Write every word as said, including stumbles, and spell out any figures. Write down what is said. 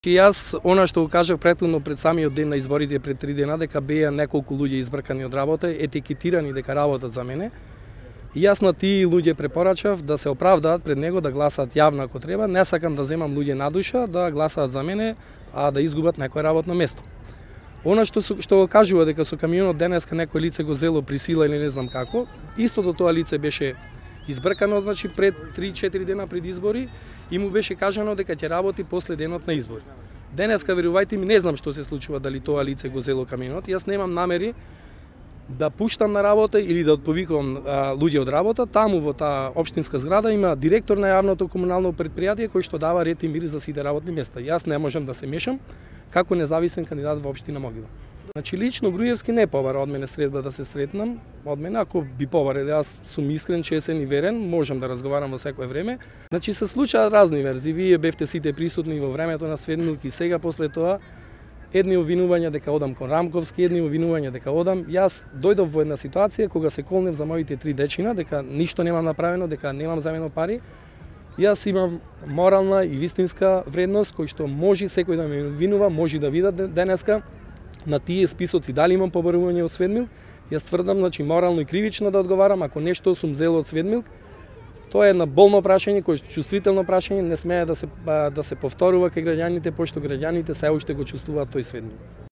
И јас, она што го кажав претходно пред самиот ден на изборите пред три дена, дека беа неколку луѓе избркани од работа, етикетирани дека работат за мене. И јас на тие луѓе препорачав да се оправдаат пред него, да гласаат јавно ако треба. Не сакам да земам луѓе на душа да гласаат за мене, а да изгубат некое работно место. Она што што го кажува дека со камионот денеска некој лице го зело присила или не знам како, истото тоа лице беше избркано, значи пред три-четири дена пред избори и му беше кажано дека ќе работи после денот на избори. Денеска, верувајте ми, не знам што се случува, дали тоа лице го зело камионот. Јас немам намери да пуштам на работа или да отповикувам а, луѓе од работа. Таму во таа општинска зграда има директор на јавното комунално претпријатие кој што дава ред и мир за сите работни места. Јас не можам да се мешам како независен кандидат во општина Могила. Значи лично Груевски не побара од мене средба да се сретнам. Од мене ако би побарал, јас сум искрен, чесен и верен, можам да разговарам во секое време. Значи се случаат разни верзии. Вие бевте сите присутни во времето на Светмилк и сега после тоа. Едни обвинувања дека одам кон Рамковски, едни обвинувања дека одам. Јас дојдов во една ситуација кога се колнев за моите три дечина, дека ништо немам направено, дека немам земено пари. Јас имам морална и вистинска вредност кој што може секој да ме обвинува, може да видат денеска на тие списоци дали имам побарување од Светмилк. Јас тврдам, значи морално и кривично да одговарам ако нешто сум зел од Светмилк. Тоа е една болно прашање, кој чувствително прашање, не смее да се да се повторува кај граѓаните, пошто граѓаните се уште го чувствуваат тој Светмилк.